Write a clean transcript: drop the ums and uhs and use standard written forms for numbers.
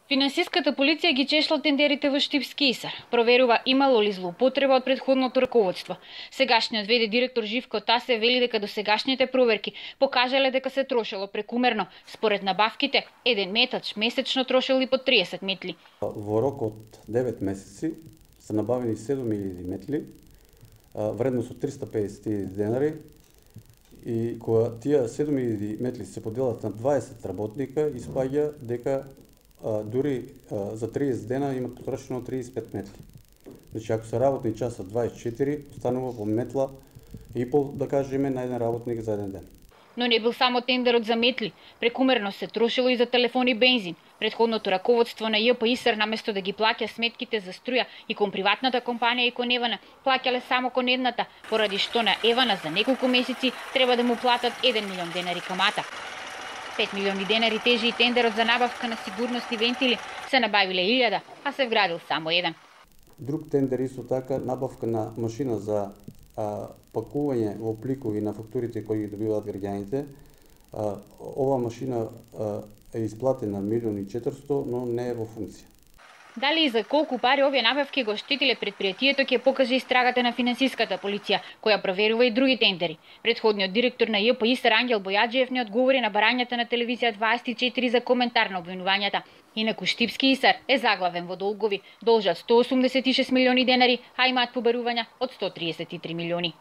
Финансиската полиција ги чешла тендерите во Штипски Исар. Проверува имало ли злоупотреба од претходното раководство. Сегашниот ВД директор Живко Тасе вели дека досегашните проверки покажале дека се трошело прекумерно. Според набавките, еден метач месечно трошел и по 30 метли. Во рок од 9 месеци се набавени 7000 метли, вредност од 350 денари, и кога тие 7000 метли се поделат на 20 работника, испаѓа дека дури за 30 дена имат потрошено 35 метли. Значи, ако се работни часа 24, останува по метла и пол, да кажеме, на еден работник за еден ден. Но не бил само тендерот за метли. Прекумерно се трошило и за телефон и бензин. Предходното раководство на ЈП Исар, наместо да ги плаќа сметките за струја и кон приватната компанија и кон Евана, плаќале само кон едната, поради што на Евана за неколку месеци треба да му платат 1 милион денари камата. 5 милиони денари тежи и тендерот за набавка на сигурностни вентили. Се набавиле 1000, а се вградил само еден. Друг тендер исто така, набавка на машина за пакување во пликови на фактурите кои ги добиваат граѓаните. Ова машина е исплатена 1.400.000, но не е во функција. Дали и за колку пари овие набавки го штетиле предпријатието ќе покаже истрагата на финансиската полиција, која проверува и други тендери. Предходниот директор на ЈП Исар Ангел Бојаджиев не одговори на барањата на телевизија 24 за коментар на обвинувањата. Инаку Штипски Исар е заглавен во долгови, должат 186 милиони денари, а имаат побарувања од 133 милиони.